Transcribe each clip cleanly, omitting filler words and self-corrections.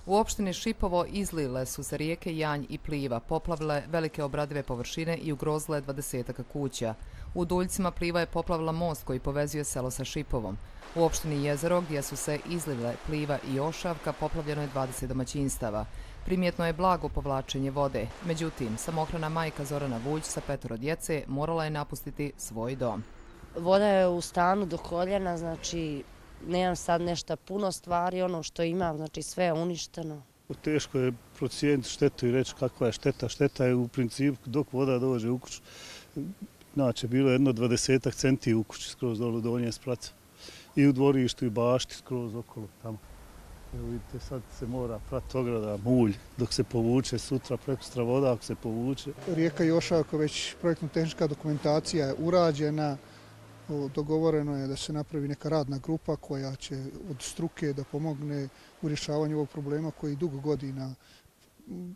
U opštini Šipovo izlile su se rijeke Janj i Pliva, poplavile velike obradive površine i ugrozile 20 kuća. U Duljcima Pliva je poplavila most koji povezuje selo sa Šipovom. U opštini Jezero, gdje su se izlile Pliva i Ošavka, poplavljeno je 20 domaćinstava. Primjetno je blago povlačenje vode. Međutim, samohrana majka Zorana Vujić sa 5 djece morala je napustiti svoj dom. Voda je u stanu do koljena, znači nemam sad nešto puno stvari, ono što imam, znači sve je uništeno. Teško je procijeniti štetu i reći kakva je šteta. Šteta je u principu dok voda dođe u kuću. Znači, bilo je jedno 20 centi u kući skroz dolu donje spraca. I u dvorištu i bašti skroz okolo tamo. Evo vidite, sad se mora prati ograda, mulj, dok se povuče sutra, prekustra voda ako se povuče. Rijeka Jošavka, već projektno-tehnička dokumentacija je urađena. Dogovoreno je da se napravi neka radna grupa koja će od struke da pomogne u rješavanju ovog problema koji dugo godina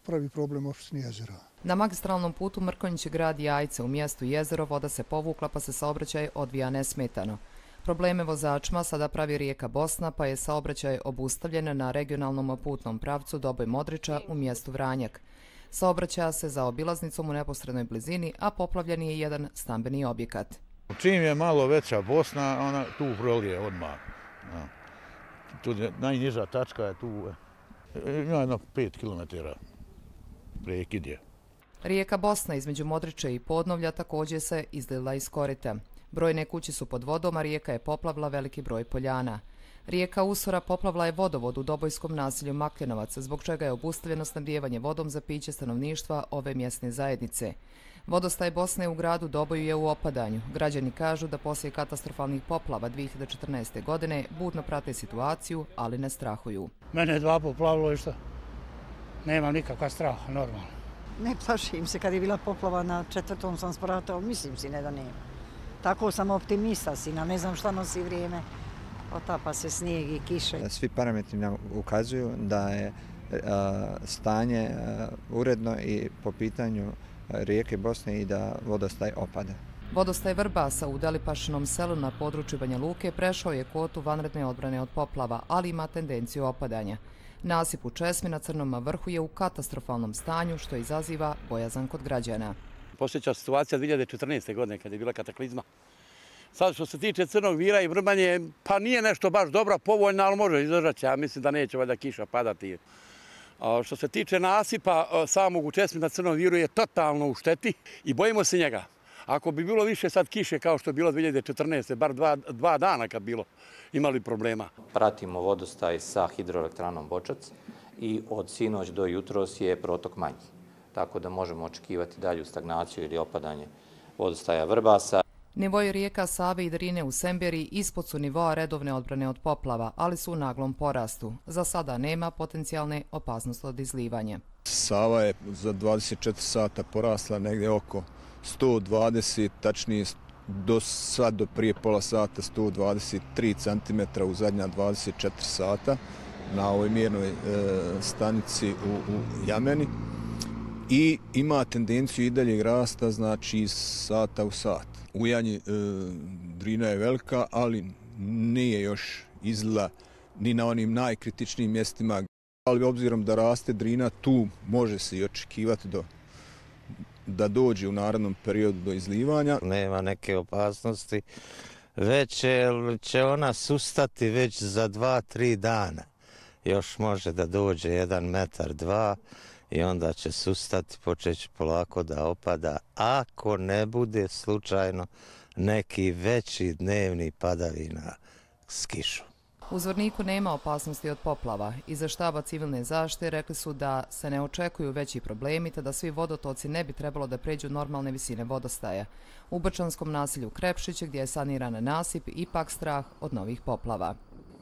pravi problem opštine Jezero. Na magistralnom putu Mrkonjić grad Jajce u mjestu Jezero voda se povukla pa se saobraćaj odvija nesmetano. Probleme vozačima sada pravi rijeka Bosna pa je saobraćaj obustavljen na regionalnom putnom pravcu Doboj Modriča u mjestu Vranjak. Saobraćaja se za obilaznicom u neposrednoj blizini, a poplavljen je jedan stambeni objekat. Čim je malo veća Bosna, ona tu prolije odmah. Tu najniža tačka je tu, ima jedno 5 km prekid je. Rijeka Bosna između Modriče i Podnovlja također se izlila iz korita. Brojne kuće su pod vodom, a rijeka je poplavila veliki broj poljana. Rijeka Usora poplavila je vodovod u Dobojskom naselju Makljenovac, zbog čega je obustavljeno snabdijevanje vodom za piće stanovništva ove mjesne zajednice. Vodostaj Bosne u gradu Doboju je u opadanju. Građani kažu da poslije katastrofalnih poplava 2014. godine budno prate situaciju, ali ne strahuju. Mene je 2 poplavilo i šta? Nemam nikakva straha, normalno. Ne plašim se, kad je bila poplava na 4. sam spratao, mislim si ne da nema. Tako sam optimista sina, ne znam šta nosi vrijeme. Otapa se snijeg i kiše. Svi parametri nam ukazuju da je stanje uredno i po pitanju rijeke Bosne i da vodostaj opada. Vodostaj Vrbasa u Delipašinom selu na području Banja Luke prešao je kvotu vanredne odbrane od poplava, ali ima tendenciju opadanja. Nasip u Česmi na Crnom vrhu je u katastrofalnom stanju, što izaziva bojazan kod građana. Posljednja situacija 2014. godine kad je bila kataklizma. Sad što se tiče Crnog Vira i Vrbanje, pa nije nešto baš dobra, povoljna, ali može izdržati. Ja mislim da neće valjda kiša padati. Što se tiče nasipa samog u Česmi na Crnom Viru je totalno u šteti i bojimo se njega. Ako bi bilo više sad kiše kao što je bilo 2014. bar 2 dana kad bilo, imali problema. Pratimo vodostaj sa hidroelektranom Bočac i od sinoć do jutros je protok manji. Tako da možemo očekivati dalju stagnaciju ili opadanje vodostaja Vrbasa. Nivoi rijeka Save i Drine u Semberi ispod su nivoa redovne odbrane od poplava, ali su u naglom porastu. Za sada nema potencijalne opasnosti od izlivanja. Sava je za 24 sata porasla negdje oko 120, tačnije do prije pola sata 123 cm u zadnja 24 sata na ovoj mjernoj stanici u Jameni. I ima tendenciju i daljeg rasta, znači iz sata u sat. U Janji Drina je velika, ali nije još izlila ni na onim najkritičnijim mjestima. Ali obzirom da raste Drina, tu može se i očekivati da dođe u narednom periodu do izlivanja. Nema neke opasnosti, već će ona sustati već za 2-3 dana. Još može da dođe 1 metar, 2 i onda će sustati, počeći polako da opada, ako ne bude slučajno neki veći dnevni padavina s kišom. U Zvorniku nema opasnosti od poplava. Iza štaba civilne zaštite rekli su da se ne očekuju veći problemi, te da svi vodotoci ne bi trebalo da pređu normalne visine vodostaja. U Brčanskom naselju Krepšiće, gdje je saniran nasip, ipak strah od novih poplava.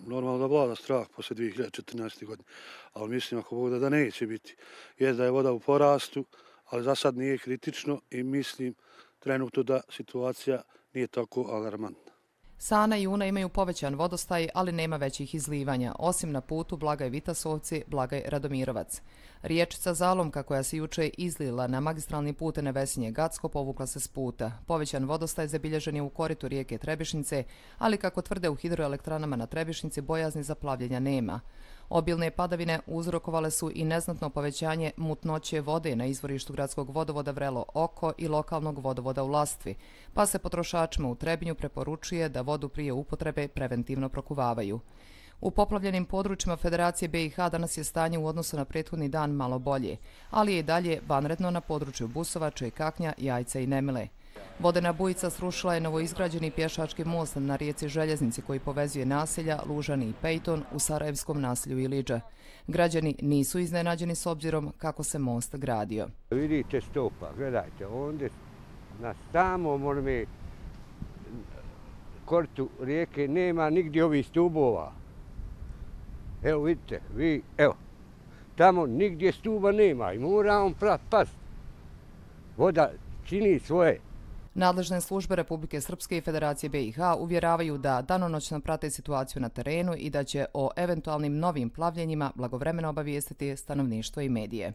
Normalno da vlada strah posle 2014. godine, ali mislim ako Bog da neće biti. Je da je voda u porastu, ali za sad nije kritično i mislim trenutno da situacija nije tako alarmantna. Sana i Una imaju povećan vodostaj, ali nema većih izlivanja, osim na putu Blagaj Vitasovci, Blagaj Radomirovac. Riječica Zalomka, koja se juče izlila na magistralni put Nevesinje-Gacko, povukla se s puta. Povećan vodostaj zabilježen je u koritu rijeke Trebišnice, ali kako tvrde u hidroelektranama na Trebišnici, bojazni za plavljenja nema. Obilne padavine uzrokovale su i neznatno povećanje mutnoće vode na izvorištu gradskog vodovoda Vrelo Oko i lokalnog vodovoda u Lastvi, pa se potrošačima u Trebinju preporučuje da vodu prije upotrebe preventivno prokuvavaju. U poplavljenim područjima Federacije BiH danas je stanje u odnosu na prethodni dan malo bolje, ali je i dalje vanredno na području Busovače, Kaknja, Jajca i Nemile. Vodena bujica srušila je novoizgrađeni pješački most na rijeci Željeznici koji povezuje naselja Lužani i Pejton u sarajevskom naselju Ilidža. Građani nisu iznenađeni s obzirom kako se most gradio. Vidite stopa, gledajte, ovdje na samom onome kortu rijeke nema nigdje ovih stubova. Evo vidite, evo, tamo nigdje stuba nema i mora on past. Voda čini svoje. Nadležne službe Republike Srpske i Federacije BiH uvjeravaju da danonoćno prate situaciju na terenu i da će o eventualnim novim plavljenjima blagovremeno obavijestiti stanovništvo i medije.